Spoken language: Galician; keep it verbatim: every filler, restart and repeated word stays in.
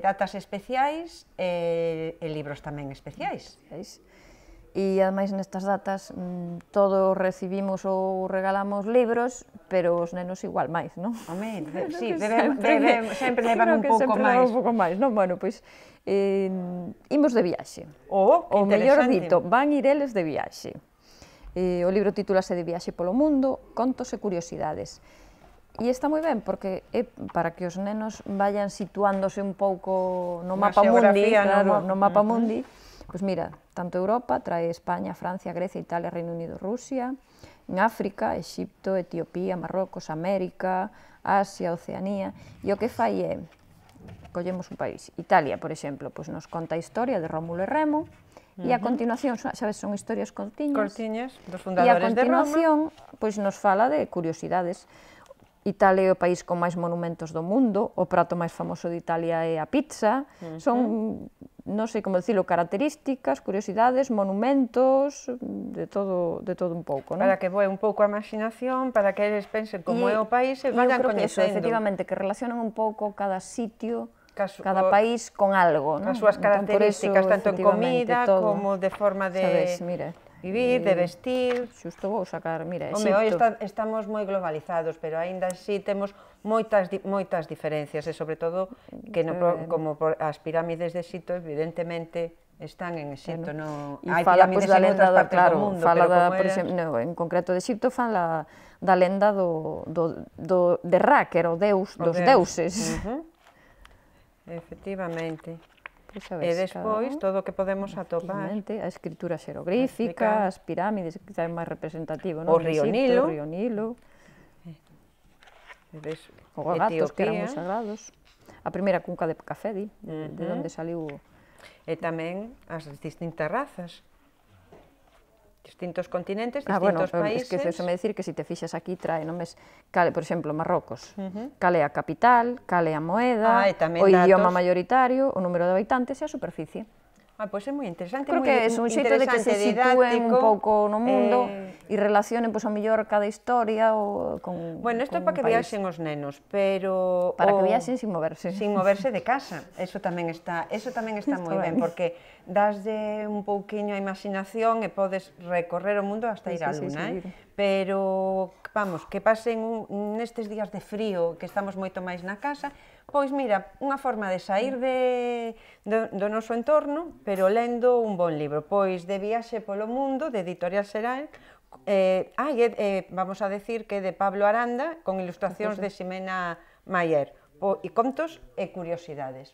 datas especiais e, e libros tamén especiais. E ademais nestas datas todos recibimos ou regalamos libros, pero os nenos igual máis, non? Home, sí, sempre levan un pouco máis. un pouco máis, non? Bueno, pois, imos de viaxe. Oh, que interesante. O mellor dito, van ir eles de viaxe. O libro titúlase De viaxe polo mundo, contos e curiosidades. E está moi ben, porque é para que os nenos vayan situándose un pouco no mapa mundi, claro, no mapa mundi. Pois mira, tanto Europa, trae España, Francia, Grecia, Italia, Reino Unido, Rusia, en África, Exipto, Etiopía, Marrocos, América, Asia, Oceanía, e o que fai é, collemos un país, Italia, por exemplo, pois nos conta a historia de Rómulo e Remo, e a continuación, sabes, son historias cortiñas, cortiñas dos fundadores de Roma, e a continuación, pois nos fala de curiosidades. Italia é o país con máis monumentos do mundo, o prato máis famoso de Italia é a pizza, son, non sei como dicilo, características, curiosidades, monumentos, de todo, de todo un pouco, non? Para que voe un pouco a imaginación, para que eles pensen como é o país e vayan coñecendo. E efectivamente, que relacionan un pouco cada sitio, cada país con algo, non? As súas características, tanto en comida como de forma de vivir, de vestir. Xusto vou sacar, mira, Exipto. Home, hoxe estamos moi globalizados, pero aínda así temos moitas moitas diferencias, e sobre todo, que como as pirámides de Exipto, evidentemente, están en Exipto, non hai pirámides en outras partes do mundo, pero como era... En concreto de Exipto fan da lenda de Ra, que era o deus dos deuses. Efectivamente. E despois, todo o que podemos atopar. A escritura xerogrífica, as pirámides, que é máis representativo, non? O río Nilo. O río Nilo. O gatos, que eran moi sagrados. A primeira cunca de café, de onde saliu... E tamén as distintas razas. Distintos continentes, distintos países... Ah, bueno, esqueceseme decir que se te fixas aquí trae nomes, por exemplo, Marrocos, cal é a capital, cal é a moeda, o idioma maioritario, o número de habitantes e a superficie. Ah, pois é moi interesante, creo que é un xeito de que se sitúen un pouco no mundo e relacionen, pois, a mellor cada historia con un país. Bueno, isto é para que viaxen os nenos, pero... Para que viaxen sin moverse. Sin moverse de casa, eso tamén está moi ben, porque daslle un pouquiño a imaginación e podes recorrer o mundo hasta ir á luna, pero, vamos, que pasen nestes días de frío, que estamos moito máis na casa, pois mira, unha forma de sair do noso entorno, pero lendo un bon libro, pois De viaxe polo mundo, de Editorial Xeral, vamos a decir que é de Pablo Aranda, con ilustracións de Ximena Mayer, e contos e curiosidades.